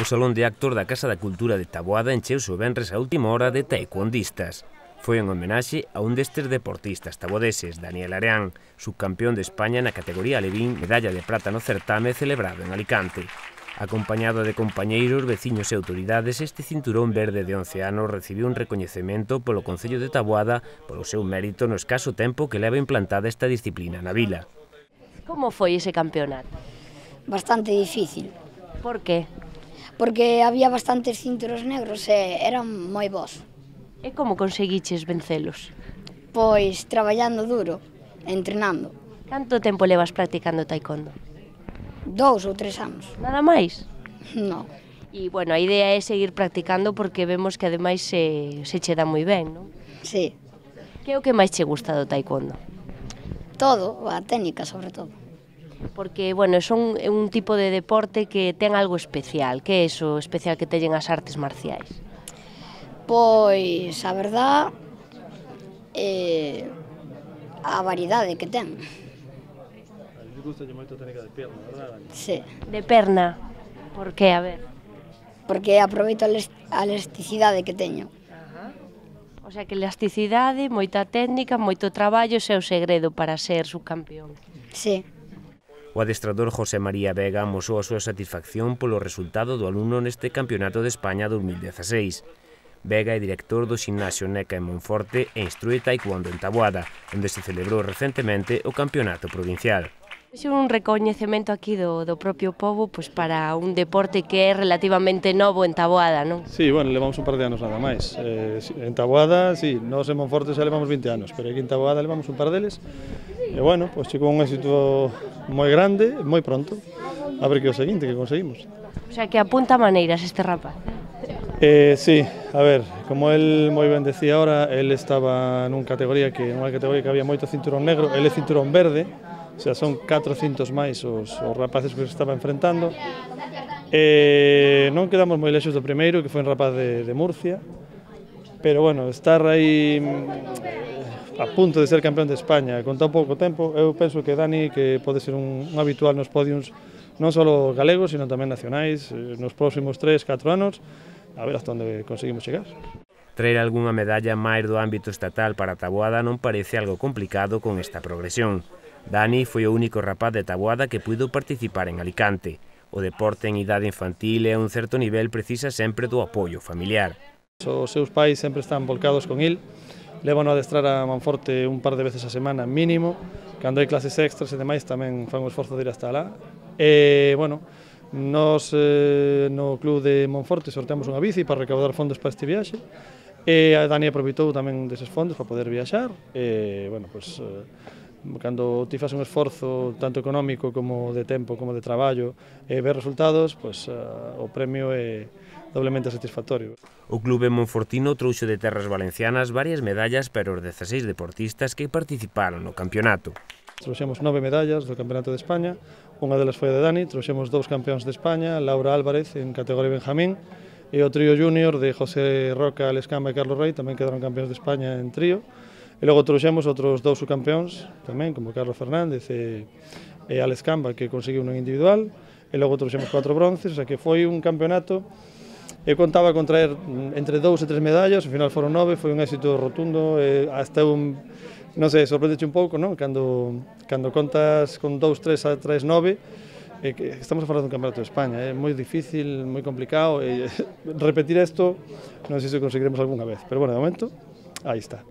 O Salón de Actos da Casa da Cultura de Taboada encheuse o venres a última hora de taekwondistas. Foi en homenaxe a un destes deportistas taboadeses, Daniel Areán, subcampeón de España na categoría alevín, medalla de prata no certame celebrado en Alicante. Acompañado de compañeiros, veciños e autoridades, este cinturón verde de 11 anos recibiu un recoñecemento polo Concello de Taboada polo seu mérito no escaso tempo que leva implantada esta disciplina na vila. Como foi ese campeonato? Bastante difícil, Por que? porque había bastantes cinturos negros e eran moi bons. E como conseguiches vencelos? Pois traballando duro, entrenando, Canto tempo levas practicando taekwondo? 2 ou 3 anos. Nada máis? Non, E, bueno, a idea é seguir practicando porque vemos que ademais se che dá moi ben, non? sí, Que é o que máis che gusta do taekwondo? todo, a técnica sobre todo. Porque, bueno, é un tipo de deporte que ten algo especial. Que é iso especial que teñen as artes marciais? Pois, a verdad, a variedade que ten. Gusta moito a técnica de pierna, verdad? Sí, De perna? Por que? A ver. porque aproveito a elasticidade que teño. O sea, que elasticidade, moita técnica, moito traballo, ese é o segredo para ser subcampeón. Sí, O adestrador José María Vega amosou a súa satisfacción polo resultado do alumno neste Campeonato de España 2016. Vega é director do Ximnasio Neca en Monforte e instrúe taekwondo en Taboada, onde se celebrou recentemente o Campeonato Provincial. É un recoñecemento aquí do propio pobo pois para un deporte que é relativamente novo en Taboada, non? Sí, bueno, levamos un par de anos nada máis. En Taboada, sí, nós en Monforte xa levamos 20 anos, pero aquí en Taboada levamos un par deles. E, bueno, pois chegou un éxito moi grande, moi pronto. A ver que o seguinte que conseguimos. O sea, que apunta maneiras este rapaz. Sí, a ver, como el moi ben decía ahora, el estaba nunha categoría que había moito cinturón negro, el é cinturón verde, o sea, son 400 máis os rapaces que se estaba enfrentando. Non quedamos moi lexos do primeiro, que foi un rapaz de Murcia, pero bueno, estar aí a punto de ser campeón de España con tan pouco tempo, eu penso que Dani, que pode ser un habitual nos podiums non só galegos, sino tamén nacionais, nos próximos 3-4 anos, a ver hasta onde conseguimos chegar. Traer algunha medalla máis do ámbito estatal para Taboada non parece algo complicado con esta progresión. Dani foi o único rapaz de Taboada que puido participar en Alicante. O deporte en idade infantil e a un certo nivel precisa sempre do apoio familiar. Os seus pais sempre están volcados con il, levan a adestrar a Monforte un par de veces a semana mínimo, cando hai clases extras e demais tamén fan o esforzo de ir hasta lá. E, bueno, nos no club de Monforte sorteamos unha bici para recaudar fondos para este viaxe e a Dani aproveitou tamén deses fondos para poder viaxar e, bueno, pues, cando ti faz un esforzo tanto económico como de tempo como de traballo e ver resultados, pues, o premio é doblemente satisfactorio. O clube monfortino trouxo de terras valencianas varias medallas para os 16 deportistas que participaron no campeonato. Trouxemos 9 medallas do Campeonato de España, unha delas foi a de Dani, trouxemos 2 campeóns de España, Laura Álvarez en categoría Benjamín e o trío júnior de José Roca, Alescamba e Carlos Rey tamén quedaron campeóns de España en trío. E logo trouxemos outros 2 subcampeóns tamén, como Carlos Fernández e Alescamba, que conseguiu un individual, e logo trouxemos 4 bronces, o sea que foi un campeonato. Eu contaba con traer entre 2 e 3 medallas, ao final foron 9, foi un éxito rotundo, hasta non sei, sorprendeche un pouco, non? Cando contas con 2, 3 a 3, 9, que estamos a falar dun campeonato de España, é moi difícil, moi complicado, e repetir isto non sei se conseguiremos algunha vez, pero bueno, de momento, aí está.